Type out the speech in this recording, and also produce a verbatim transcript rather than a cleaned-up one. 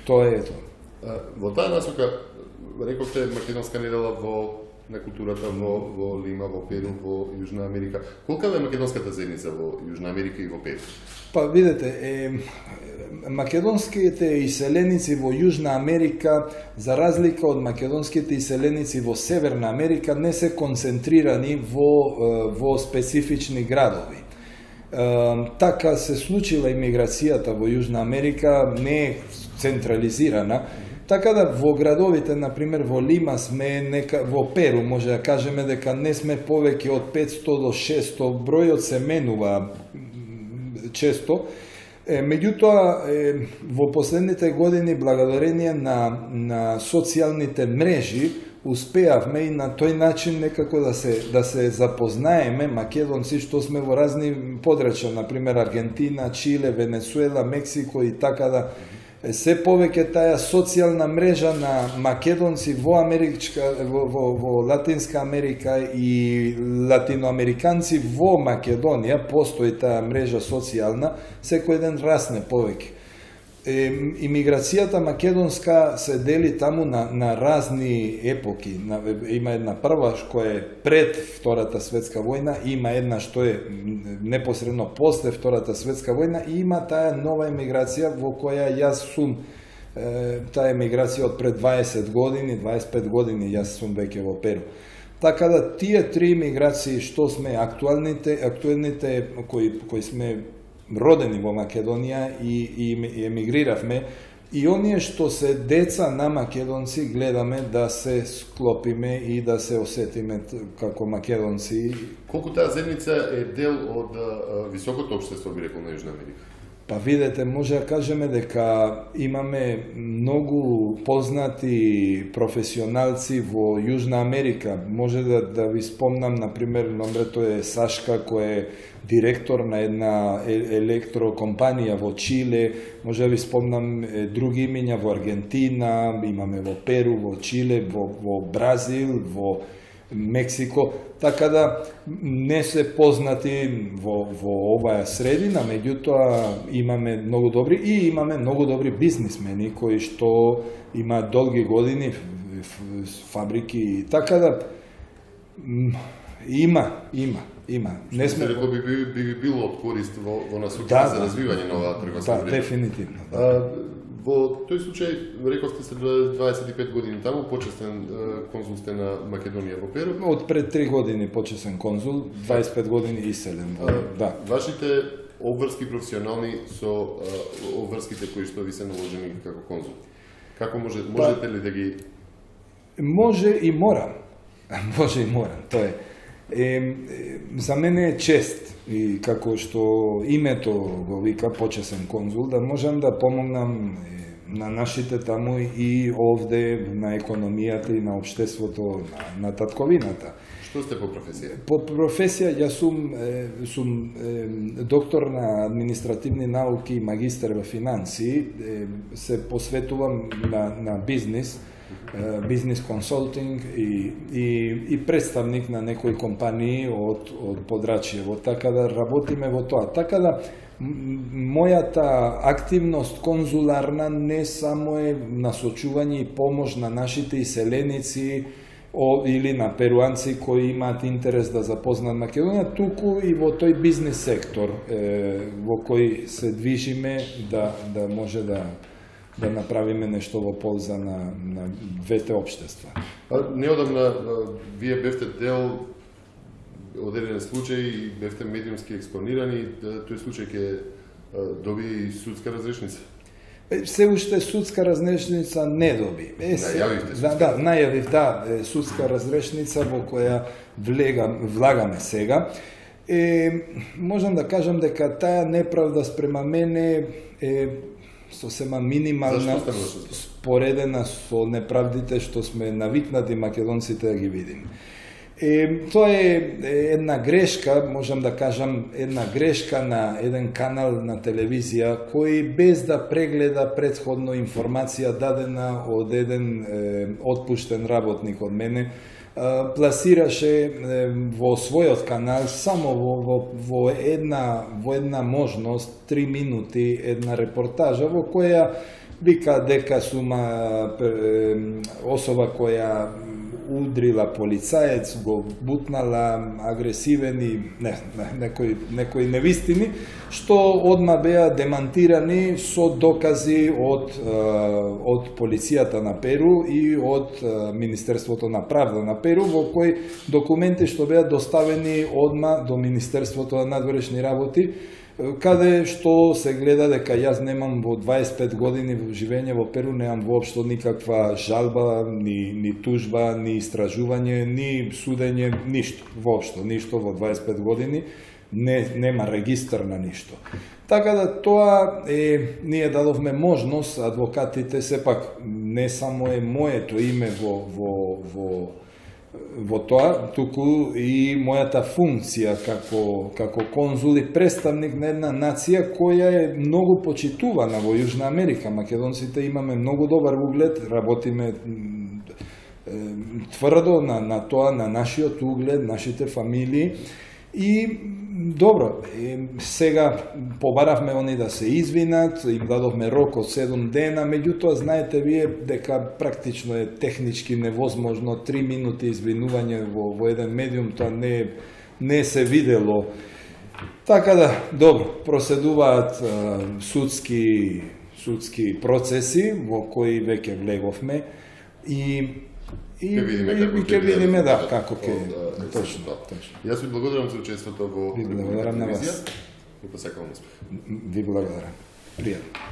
Тоа е тоа. Во таа насока, рековте македонска недела во на културата во, во Лима, во Перу, во Јужна Америка. Колка е македонската заедница во Јужна Америка и во Перу? Па видете, е, македонските иселеници во Јужна Америка, за разлика од македонските иселеници во Северна Америка, не се концентрирани во, во специфични градови. Е, така се случила имиграцијата во Јужна Америка, не е централизирана. Така да во градовите, например во Лима сме, нека, во Перу може да кажеме дека не сме повеќе од петсто до шесто, бројот се менува често. Е, меѓутоа, е, во последните години, благодарение на, на социјалните мрежи, успеавме и на тој начин некако да се, да се запознаеме македонци што сме во разни подрачја, например Аргентина, Чиле, Венецуела, Мексико и така да... Се повеќе таа социјална мрежа на македонци во Америчка, во, во, во Латинска Америка и латиноамериканци во Македонија, постои таа мрежа социјална, секој ден расне повеќе. Е, имиграцијата македонска се дели таму на, на разни епоки. На, има една прва која е пред Втората светска војна, има една што е непосредно после Втората светска војна и има таа нова емиграција во која јас сум, е, таа емиграција од пред дваесет години, дваесет и пет години јас сум веќе во Перу. Така да тие три емиграции што сме актуалните, актуалните кои, кои сме родени во Македонија и, и емигриравме, и оние што се деца на македонци гледаме да се склопиме и да се осетиме како македонци. Колку таа заедница е дел од а, високото општество, би рекол, на Јужна Америка? Па видете, може да кажеме дека имаме многу познати професионалци во Јужна Америка. Може да, да ви спомнам, например, номрето е Сашка, кој е директор на една електрокомпанија во Чиле. Може да ви спомнам други имиња во Аргентина, имаме во Перу, во Чиле, во, во Бразил, во Мексико, така да не се познати во, во оваа средина, меѓутоа имаме многу добри и имаме многу добри бизнисмени кои што имаат долги години фабрики, така да има, има, има. Не сме рекол би, би, би било од корист во, во насока да, за развивање на оваа трговска да, дефинитивно. Да. А, во тој случај, рековте се дваесет и пет години таму, почесен конзул сте на Македонија во Перу. Од пред три години почесен конзул, дваесет и пет години иселен. А, да. Вашите обврски професионални со а, обврските кои што ви се наложени како конзул. Како може, можете ли да ги... Може и морам. Може и морам, тоа е. Е, за мене е чест и како што името го вика почесен конзул, да можам да помогнам на нашите таму и овде на економијата и на општеството, на, на татковината. Што сте по професија? По професија јас сум, е, сум е, доктор на административни науки и магистар во финансии, е, се посветувам на, на бизнис, бизнис консултинг и, и, и представник на некои компании од, од подрачјево, така да работиме во тоа. Така да мојата активност конзуларна не само е насочување и помош на нашите иселеници о, или на перуанци кои имаат интерес да запознаат Македонија, туку и во тој бизнис сектор е, во кој се движиме да, да може да да направиме нешто во полза на, на двете општества. А, неодамна вие бевте дел од еден случај и бевте медиумски експонирани, тој случај ќе доби судска разрешница? Се уште судска разрешница не доби. Е, се, најавивте да, да, најавив, да, судска разрешница во која влегам, влагаме сега. Е, можам да кажам дека таа неправда спрема мене е сосема минимална, споредена со неправдите што сме навикнати македонците да ги видим. Е, тоа е една грешка, можам да кажам, една грешка на еден канал на телевизија кој без да прегледа предходно информација дадена од еден е, отпуштен работник од мене, пласираше во својот канал само во, во, во, една, во една можност, три минути, една репортажа во која вика дека сума особа која удрила полицаец, го бутнала, агресивен и не, не, некои, некои невистини, што одма беа демантирани со докази од, од полицијата на Перу и од Министерството на правда на Перу, во кои документи што беа доставени одма до Министерството на надворешни работи, каде што се гледа дека јас немам во дваесет и пет години живење во Перу, немам воопшто никаква жалба, ни, ни тужба, ни истражување, ни судење, ништо, воопшто, ништо во дваесет и пет години, не, нема регистар на ништо. Така да тоа е, ние дадовме можност, адвокатите, сепак не само е моето име во, во, во во тоа, туку и мојата функција како, како конзул и представник на една нација која е многу почитувана во Јужна Америка. Македонците имаме многу добар углед, работиме тврдо на, на тоа, на нашиот углед, нашите фамилии. И добро, сега побаравме они да се извинат, им дадовме рок од седум дена, меѓутоа знаете вие дека практично е технички невозможно три минути извинување во, во еден медиум, тоа не, не се видело. Така да, добро, проседуваат а, судски, судски процеси во кои веќе влеговме и И ќе видиме да како ќе точно. Јас ви благодарам за учеството во Ви благодарам на вас. И посакувам успех. Ви благодарам. Пријатно.